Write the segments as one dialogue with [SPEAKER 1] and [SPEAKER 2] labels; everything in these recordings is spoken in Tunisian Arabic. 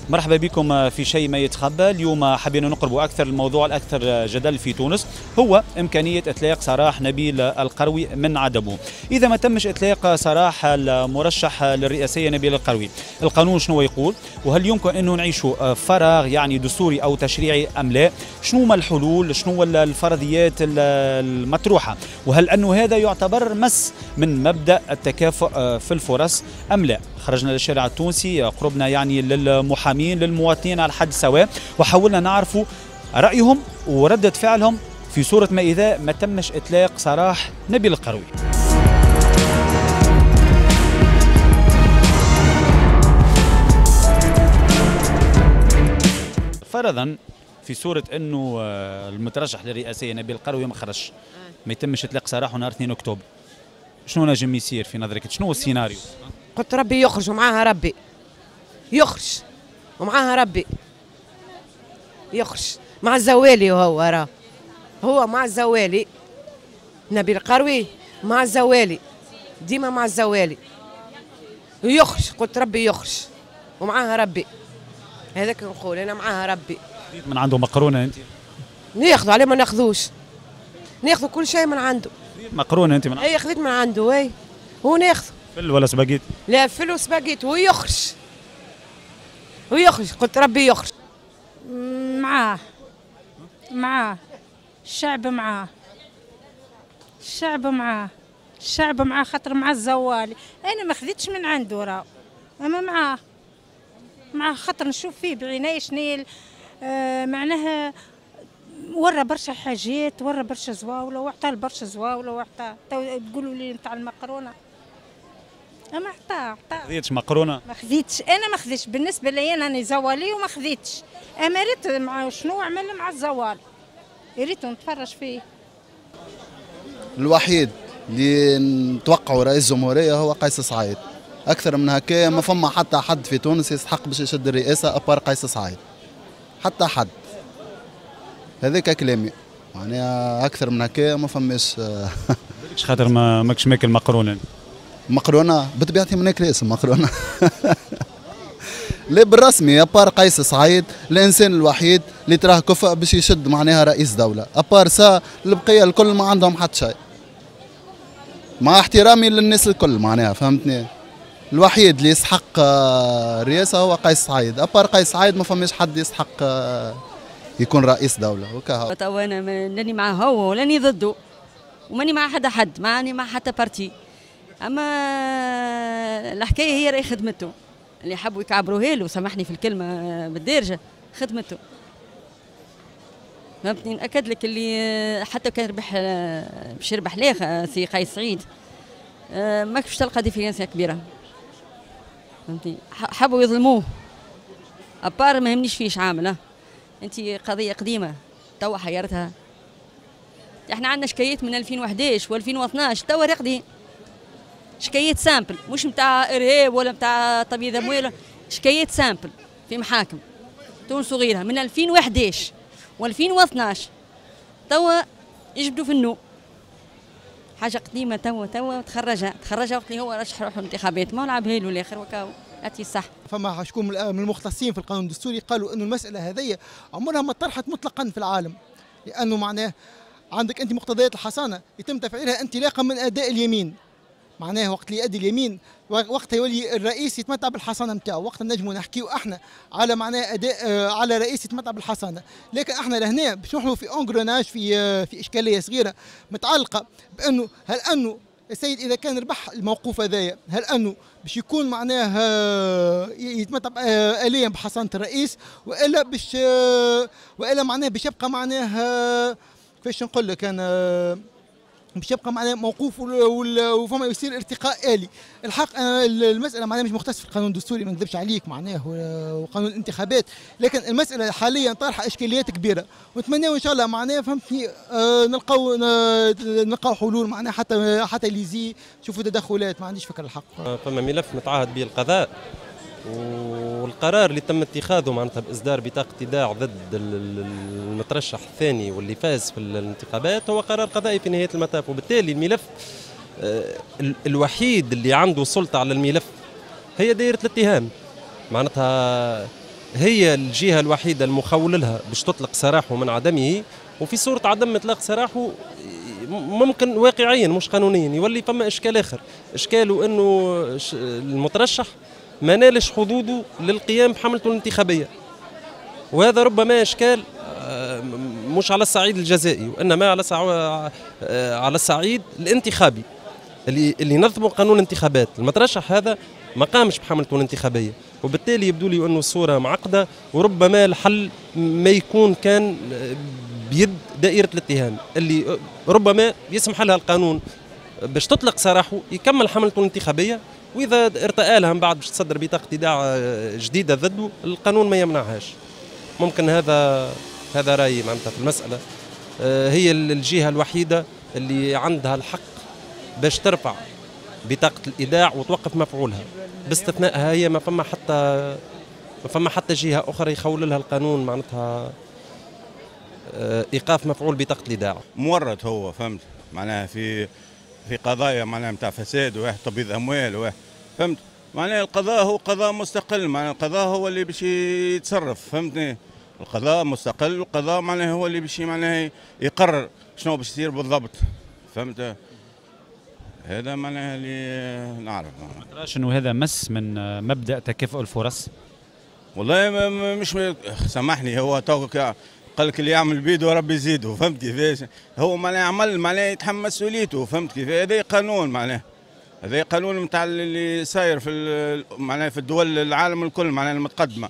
[SPEAKER 1] مرحبا بكم في شيء ما يتخبى. اليوم حبينا نقرب أكثر الموضوع الأكثر جدل في تونس، هو إمكانية إطلاق سراح نبيل القروي من عدمه. إذا ما تمش إطلاق سراح المرشح للرئاسية نبيل القروي، القانون شنو يقول؟ وهل يمكن أنه نعيشوا فراغ يعني دستوري أو تشريعي أم لا؟ شنو ما الحلول؟ شنو الفرضيات المطروحة؟ وهل أنه هذا يعتبر مس من مبدأ التكافؤ في الفرص أم لا؟ خرجنا للشارع التونسي، قربنا يعني للمحامين للمواطنين على حد سواء، وحاولنا نعرفوا رأيهم وردة فعلهم في صورة ما إذا ما تمش إطلاق سراح نبيل القروي. فرضا في صورة أنه المترشح للرئاسية نبيل القروي ما خرجش، ما يتمش إطلاق سراحه نهار 2 أكتوبر، شنو نجم يصير في نظرك؟ شنو السيناريو؟
[SPEAKER 2] قلت ربي يخرج ومعاها ربي، يخرج ومعاها ربي، يخرج مع الزوالي. وهو راه هو مع الزوالي، نبيل القروي مع الزوالي، ديما مع الزوالي. يخرج، قلت ربي يخرج ومعاها ربي، هذاك نقول انا معاها ربي.
[SPEAKER 1] من عنده مقرونة انت؟
[SPEAKER 2] ناخذوا عليه ما ناخذوش، ناخذوا كل شيء من عنده.
[SPEAKER 1] مقرونة انت من عنده؟
[SPEAKER 2] اي خذيت من عنده، اي هو ناخذ.
[SPEAKER 1] فل ولا سباجيت؟
[SPEAKER 2] لا فل وسباجيت، ويخرج ويخرج، قلت ربي يخرج.
[SPEAKER 3] معاه معاه الشعب، معاه الشعب، معاه الشعب، معاه خاطر مع الزوالي. انا ما خذيتش من عنده راه، اما معاه معاه خاطر نشوف فيه بعيني شنو معناها. ورا برشا حاجات، ورا برشا زواوله، وعطاه برشا زواوله، وعطاه تقولوا لي نتاع المقرونه. اما عطاه عطاه.
[SPEAKER 1] خذيتش مقرونة؟
[SPEAKER 3] ما خذيتش، انا ما خذيتش، بالنسبة لي انا راني زوالي وما خذيتش. اما ريت مع شنو عمل مع الزوال، ريت نتفرج فيه.
[SPEAKER 4] الوحيد اللي نتوقعه رئيس جمهورية هو قيس سعيد، اكثر من هكا ما فما حتى حد في تونس يستحق باش يشد الرئاسة à part قيس سعيد، حتى حد. هذاك كلامي، معناها اكثر من هكا ما فماش.
[SPEAKER 1] بالكش خاطر ماكش ماكل مقرونة؟
[SPEAKER 4] مقرونة بطبيعتي ما ناكلهاش مقرونة. لا بالرسمي à part قيس سعيد الانسان الوحيد اللي تراه كفء باش يشد معناها رئيس دولة، à part ça البقية الكل ما عندهم حتى شيء. مع احترامي للناس الكل معناها، فهمتني؟ الوحيد اللي يستحق الرئاسة هو قيس سعيد، à part قيس سعيد ما فماش حد يستحق يكون رئيس دولة. وكهو
[SPEAKER 5] توا انا لاني معاه هو ولاني ضده، وماني مع حدا حد، ماني مع حتى parti. اما الحكاية هي راهي خدمته اللي حبوا يكعبروها له، سامحني في الكلمة بالدارجة، خدمته. فهمتني؟ ناكد لك اللي حتى كان ربح باش يربح ليه سي قيس سعيد، ماكش باش تلقى différence كبيرة. فهمتني؟ حبوا يظلموه à part، ما يهمنيش فيه عامل. انت قضية قديمة توا حيرتها. احنا عندنا شكايات من 2011 و2012 توا راقدين، شكايات simples، مش نتاع ارهاب ولا نتاع تبييض اموال، شكايات simples في محاكم تونس وغيرها من 2011 و2012 توا يجبدوا في النوم. حاجة قديمة توا تخرجها تخرجها وقت اللي هو رشح روحه الانتخابات، ما لعبها له الاخر وكاو يعطيه الصح.
[SPEAKER 6] فما شكون من المختصين في القانون الدستوري قالوا انه المسالة هذه عمرها ما طرحت مطلقا في العالم، لانه معناه عندك انت مقتضيات الحصانة يتم تفعيلها انطلاقا من اداء اليمين. معناه وقت اللي يؤدي اليمين وقتها يولي الرئيس يتمتع بالحصانه نتاعو، وقتها نجموا نحكيو احنا على معناه اداء على رئيس يتمتع بالحصانه، لكن احنا لهنا باش نحن في engrenage في اشكالية صغيرة متعلقه بانه هل انه السيد اذا كان ربح الموقوف هذايا هل انه باش يكون معناه يتمتع اليا بحصانه الرئيس، والا باش والا معناه باش يبقى معناه كيفاش نقول لك انا باش يبقى معناه موقوف وفما يصير ارتقاء آلي. الحق أنا المسألة معناها مش مختص في القانون الدستوري، ما نكذبش عليك معناه وقانون الانتخابات، لكن المسألة حاليا طارحة إشكاليات كبيرة، ونتمناو إن شاء الله معناه فهمتني نلقاو حلول معناه حتى ليزي شوفوا تدخلات، ما عنديش فكرة الحق.
[SPEAKER 7] فما ملف متعهد به القضاء، والقرار اللي تم اتخاذه معناتها باصدار بطاقة ايداع ضد المترشح الثاني واللي فاز في الانتخابات هو قرار قضائي في نهاية المطاف، وبالتالي الملف الوحيد اللي عنده سلطة على الملف هي دائرة الاتهام. معناتها هي الجهة الوحيدة المخول لها باش تطلق سراحه من عدمه، وفي صوره عدم اطلاق سراحه ممكن واقعيا مش قانونيا يولي فما اشكال اخر، اشكاله انه المترشح ما نالش حظوظه للقيام بحملته الانتخابية، وهذا ربما اشكال مش على الصعيد الجزائي وانما على الصعيد الانتخابي اللي نظموا قانون الانتخابات. المترشح هذا ما قامش بحملته الانتخابية، وبالتالي يبدو لي انه الصورة معقدة، وربما الحل ما يكون كان بيد دائرة الاتهام اللي ربما يسمح لها القانون باش تطلق سراحه يكمل حملته الانتخابية، واذا ارتأى لها من بعد باش تصدر بطاقة ايداع جديدة ضده القانون ما يمنعهاش. ممكن هذا رايي معناتها في المسالة. هي الجهة الوحيدة اللي عندها الحق باش ترفع بطاقة الايداع وتوقف مفعولها، باستثنائها هي ما فما حتى جهة اخرى يخول لها القانون معناتها ايقاف مفعول بطاقة الايداع.
[SPEAKER 8] مورط هو، فهمت معناها في قضايا معناها نتاع فساد وواحد تبييض اموال وواحد، فهمت معناها القضاء هو قضاء مستقل، معناها القضاء هو اللي باش يتصرف، فهمتني؟ القضاء مستقل، والقضاء معناها هو اللي باش معناها يقرر شنو باش يصير بالضبط، فهمت؟ هذا معناها اللي نعرف.
[SPEAKER 1] ما تراش انه هذا مس من مبدا تكافؤ الفرص؟
[SPEAKER 8] والله مش سامحني، هو تو قال لك اللي يعمل بيده ربي يزيده، فهمت كيفاش؟ هو معناها عمل معناها يتحمل مسؤوليته، فهمت كيف؟ هذا قانون معناها، هذا قانون نتاع اللي صاير في معناها في الدول العالم الكل معناها المتقدمة،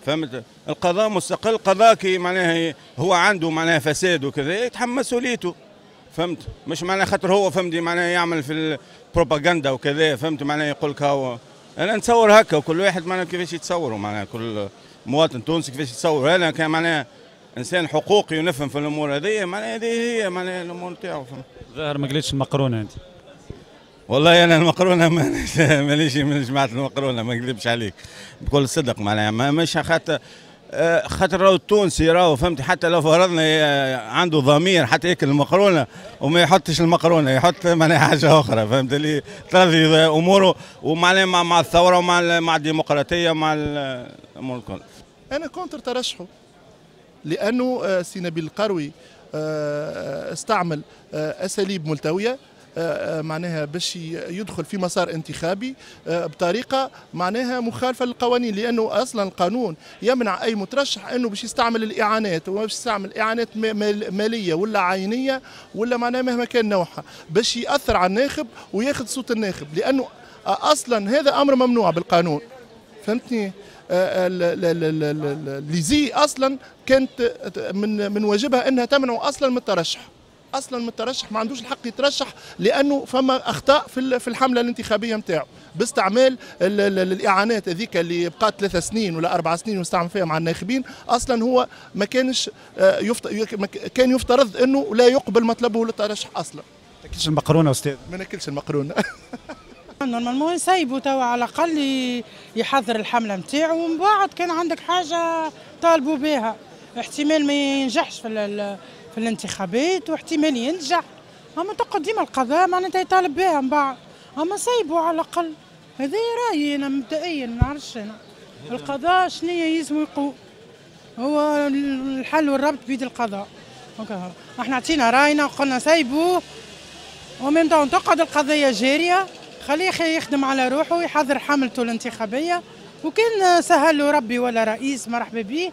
[SPEAKER 8] فهمت؟ القضاء مستقل، قضاء كي معناها هو عنده معناها فساد وكذا يتحمل مسؤوليته، فهمت؟ مش معناها خاطر هو فهمتي معناها يعمل في البروباغندا وكذا، فهمت؟ معناها يقول لك هو انا نتصور هكا، وكل واحد معناها كيفاش يتصوروا، معناها كل مواطن تونسي كيفاش يتصور. انا كان معناها انسان حقوقي ونفهم في الامور هذه، معناها هذه هي معناها الامور نتاعو.
[SPEAKER 1] ظاهر ما قلتش المقرونه انت.
[SPEAKER 8] والله انا المقرونه مانيش من جماعة المقرونه، ما نكذبش عليك بكل صدق، معناها مش خاطر راهو التونسي راهو، فهمت؟ حتى لو فرضنا عنده ضمير حتى ياكل المقرونه وما يحطش المقرونه، يحط معناها حاجة اخرى، فهمت؟ اللي ترضي اموره ومعناها مع الثورة ومع الديمقراطية ومع الامور الكل.
[SPEAKER 9] انا contre ترشحه، لانه سي نبيل القروي استعمل اساليب ملتويه معناها باش يدخل في مسار انتخابي بطريقة معناها مخالفة للقوانين، لانه اصلا القانون يمنع اي مترشح انه باش يستعمل الاعانات، وباش يستعمل اعانات ماليه ولا عينيه ولا معناها مهما كان نوعها باش ياثر على الناخب وياخذ صوت الناخب، لانه اصلا هذا امر ممنوع بالقانون، فهمتني؟ l'ISIE اصلا كانت من واجبها انها تمنعه اصلا من الترشح، اصلا من الترشح، ما عندوش الحق يترشح لانه فما اخطاء في الحملة الانتخابية نتاعو باستعمال الاعانات هذيك اللي بقات 3 سنين ولا 4 سنين ويستعمل فيها مع الناخبين. اصلا هو ما كانش كان يفترض انه لا يقبل مطلبه للترشح اصلا.
[SPEAKER 1] ما تاكلش المقرونه استاذ؟
[SPEAKER 9] ما ناكلش المقرونه.
[SPEAKER 3] normalement يسيبوا توا على الاقل يحضر الحملة نتاعو، ومن بعد كان عندك حاجة طالبوا بها، احتمال ما ينجحش في الانتخابات واحتمال ينجح، اما تقعد ديما القضاء معناتها يطالب بها من بعد، اما سيبوا على الاقل. هذا رايي انا مبدئيا، ما نعرفش انا القضاء شنو يلزم يقول، هو الحل والربط بيد القضاء. احنا عطينا راينا وقلنا سيبوه، ومن بعد تقعد القضية جارية، خليه يخدم على روحه ويحضر حملته الانتخابية، وكان سهل له ربي ولا رئيس مرحبا به،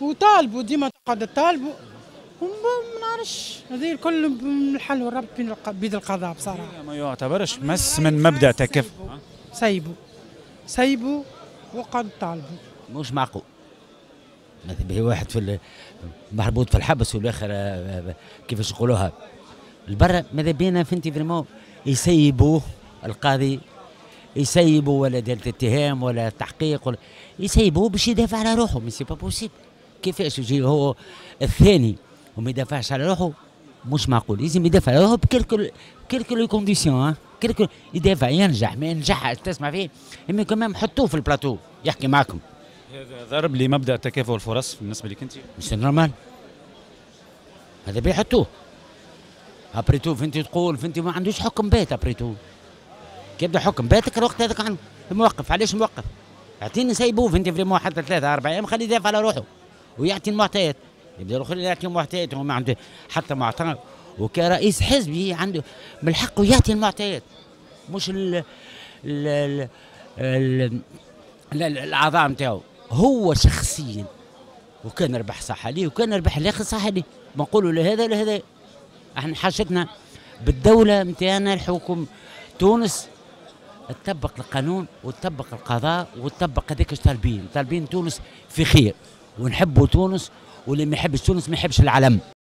[SPEAKER 3] وطالبوا ديما تقعد تطالبوا، وما نعرفش هذه الكل الحل والربط بيد القضاء بصراحة.
[SPEAKER 1] ما يعتبرش مس من مبدا تكافؤ.
[SPEAKER 3] سيبوا وقعدوا طالبوا.
[SPEAKER 10] مش معقول به واحد في مربوط في الحبس والاخر كيفاش يقولوها البرا، ماذا بينا فهمتي vraiment يسيبوه القاضي، يسيبوا ولا دالة اتهام ولا تحقيق ولا يسيبوه باش يدافع على روحه، mais c'est pas possible. كيفاش يجي هو الثاني وما يدافعش على روحه؟ مش معقول، لازم يدافع على روحه ب quelques les conditions، quelques يدافع، ينجح ما ينجحش تسمع فيه، mais quand même حطوه في البلاتو يحكي معكم.
[SPEAKER 1] هذا ضرب لمبدا تكافؤ الفرص بالنسبة لك انت؟
[SPEAKER 10] مش normal، هذا بيحطوه après tout، فهمتي تقول فهمتي ما عندوش حكم بات après tout، كي يبدا حكم باتك الوقت هذاك عنده موقف، علاش موقف؟ يعطيني نسيبوه فهمتي vraiment حتى 3 4 ايام، خليه يدافع على روحه ويعطي المعطيات. يبدا الاخر يعطي المعطيات، هو ما عنده حتى معطى، وكرئيس حزبي عنده من حقه يعطي المعطيات، مش ال ال ال ال الاعضاء نتاعو هو شخصيا. وكان ربح صح عليه، وكان ربح الاخر صح عليه، ما نقولوا لا هذا لا هذا. احنا حاجتنا بالدولة نتاعنا، الحكم تونس تطبق القانون وتطبق القضاء وتطبق هذاك اش طالبين، طالبين تونس في خير ونحبوا تونس، واللي ما يحبش تونس ما يحبش العالم.